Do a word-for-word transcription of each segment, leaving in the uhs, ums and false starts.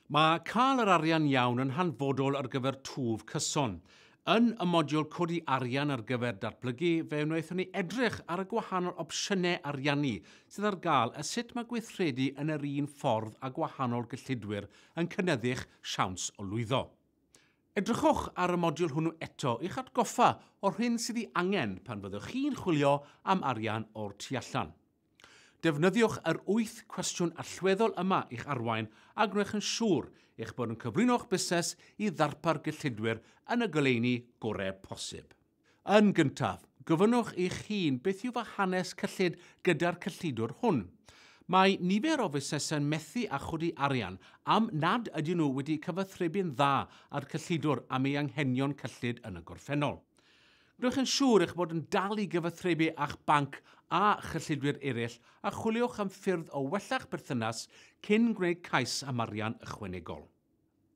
Mae cael yr arian iawn yn hanfodol ar gyfer twf cyson. Yn y modiwl codi arian ar gyfer datblygu, fe wnaethon ni edrych ar y gwahanol opsiynau ariannu sydd ar gael a sut mae gweithredu yn yr un ffordd a gwahanol gyllidwyr yn cynyddu'ch siawns o lwyddo. Edrychwch ar y modiwl hwnnw eto i'ch atgoffa o'r hyn sydd ei angen pan fyddwch chi'n chwilio am arian o'r tu allan. Defnyddiwch yr wyth cwestiwn allweddol yma i'ch arwain a gwnewch yn siŵr eich bod yn cyflwyno'ch busnes i ddarpar gyllidwyr yn y goleuni gorau posib. Yn gyntaf, gofynnwch i'ch hun beth yw fy hanes cyllid gyda'r cyllidwr hwn. Mae nifer o fusnesau'n methu â chodi arian am nad ydyn nhw wedi cyfathrebu'n dda â'r cyllidwr am ei anghenion cyllid yn y gorffennol. Gwnewch yn siŵr eich bod yn dal i gyfathrebu â'ch banc a chyllidwyr eraill a chwiliwch am ffyrdd o wella'ch berthynas cyn gwneud cais am arian ychwanegol.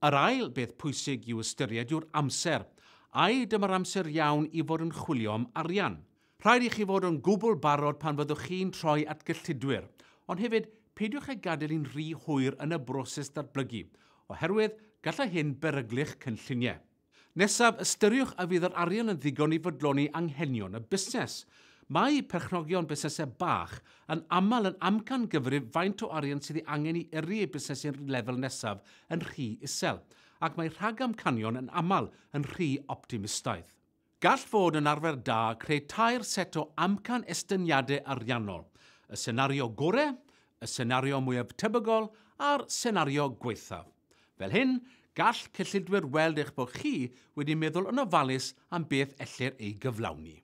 Yr ail beth pwysig i'w ystyried yw'r amser. Ai dyma'r amser iawn i fod yn chwilio am arian? Rhaid i chi fod yn gwbl barod pan fyddwch chi'n troi at gyllidwyr, ond hefyd peidiwch â gadael hi'n rhy hwyr yn y broses datblygu, oherwydd gallai hyn beryglu'ch cynlluniau. Nesaf, ystyriwch a fydd yr arian yn ddigon i fodloni anghenion y busnes. Mae perchnogion busnesau bach yn aml yn amcangyfrif faint o arian sydd ei angen i yrru eu busnes i'r lefel nesaf yn rhy isel, ac mae rhagamcanion yn aml yn rhy optimistaidd. Gall fod yn arfer da creu tair set o amcan estyniadau ariannol: y senario gorau, y senario mwyaf tebygol a'r senario gwaethaf. Fel hyn, gall cyllidwyr weld eich bod chi wedi meddwl yn ofalus am beth ellir ei gyflawni.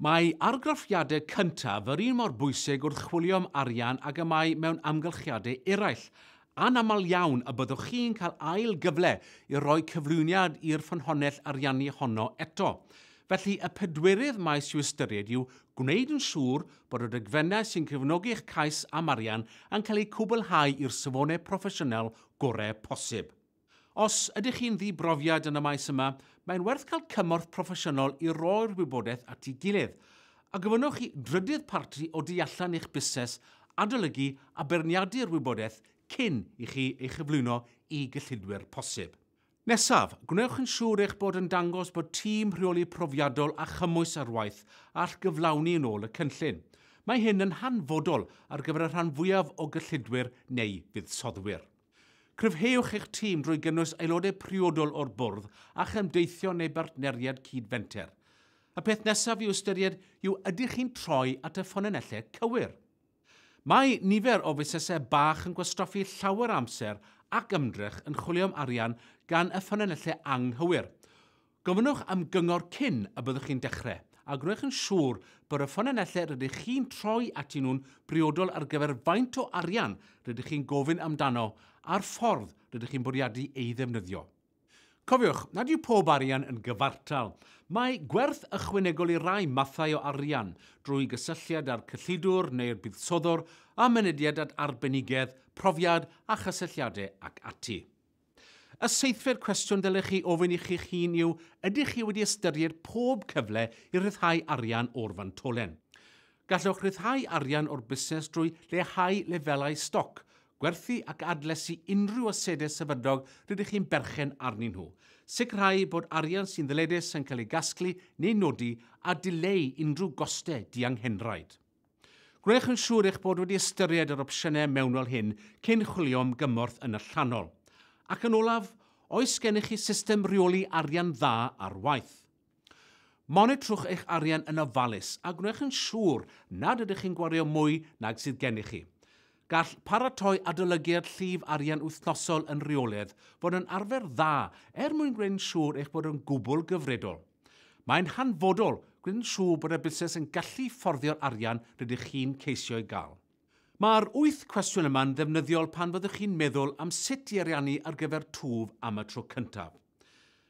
Mae argraffiadau cyntaf yr un mor bwysig wrth chwilio am arian ag y mae mewn amgylchiadau eraill. Anaml iawn y byddwch chi'n cael ail gyfle i roi cyflwyniad i'r ffynhonnell ariannu honno eto. Felly, y pedwerydd maes i'w ystyried yw gwneud yn siŵr bod y dogfennau sy'n cefnogi'ch cais am arian yn cael eu cwblhau i'r safonau proffesiynol gorau posib. Os ydych chi'n ddibrofiad yn y maes yma, mae'n werth cael cymorth proffesiynol i roi'r wybodaeth at ei gilydd, a gofynnwch i drydydd parti o du allan eich busnes adolygu a beirniadu'r wybodaeth cyn i chi ei chyflwyno i gyllidwyr posib. Nesaf, gwnewch yn siŵr eich bod yn dangos bod tîm rheoli profiadol a chymwys ar waith all gyflawni yn ôl y cynllun. Mae hyn yn hanfodol ar gyfer y rhan fwyaf o gyllidwyr neu fuddsoddwyr. Cryfhewch eich tîm drwy gynnwys aelodau priodol o'r bwrdd a chymdeithio neu bartneriad cyd-fenter. Y peth nesaf i'w ystyried yw ydych chi'n troi at y ffynonellau cywir. Mae nifer o fusnesau bach yn gwastraffu llawer amser ac ymdrech yn chwilio am arian gan y ffynonellau anghywir. Gofynnwch am gyngor cyn y byddwch chi'n dechrau, a gwnewch yn siŵr bod y ffynonellau rydych chi'n troi atyn nhw'n briodol ar gyfer faint o arian rydych chi'n gofyn amdano a'r ffordd rydych chi'n bwriadu ei ddefnyddio. Cofiwch nad yw pob arian yn gyfartal. Mae gwerth ychwanegol i rai mathau o arian drwy gysylltiad â'r cyllidwr neu'r buddsoddwr a mynediad at arbenigedd, profiad a chysylltiadau ac ati. Y seithfed cwestiwn dylech chi ofyn i chi'ch hun yw, ydych chi wedi ystyried pob cyfle i ryddhau arian o'r fantolen? Gallwch ryddhau arian o'r busnes drwy leihau lefelau stoc, gwerthu ac adlesu unrhyw asedau sefydlog rydych chi'n berchen arnyn nhw. Sicrhau bod arian sy'n ddyledus yn cael ei gasglu neu nodi a dileu unrhyw gostau dianghenraid. Gwnewch yn siŵr eich bod wedi ystyried yr opsiynau mewnol hyn cyn chwilio am gymorth yn allanol. Ac yn olaf, oes gennych chi system rheoli arian dda ar waith? Monitrwch eich arian yn ofalus a gwnewch yn siŵr nad ydych chi'n gwario mwy nag sydd gennych chi. Gall paratoi adolygiad llif arian wythnosol yn rheolaidd fod yn arfer dda er mwyn gwneud yn siŵr eich bod yn gwbl gyfredol. Mae'n hanfodol gwneud yn siŵr bod y busnes yn gallu fforddio'r arian rydych chi'n ceisio ei gael. Mae'r wyth cwestiwn yma'n ddefnyddiol pan fyddwch chi'n meddwl am sut i ariannu ar gyfer twf am y tro cyntaf.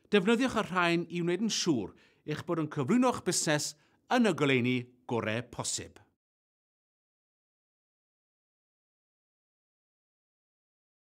Defnyddiwch y rhain i wneud yn siŵr eich bod yn cyflwyno'ch busnes yn y goleuni gorau posib.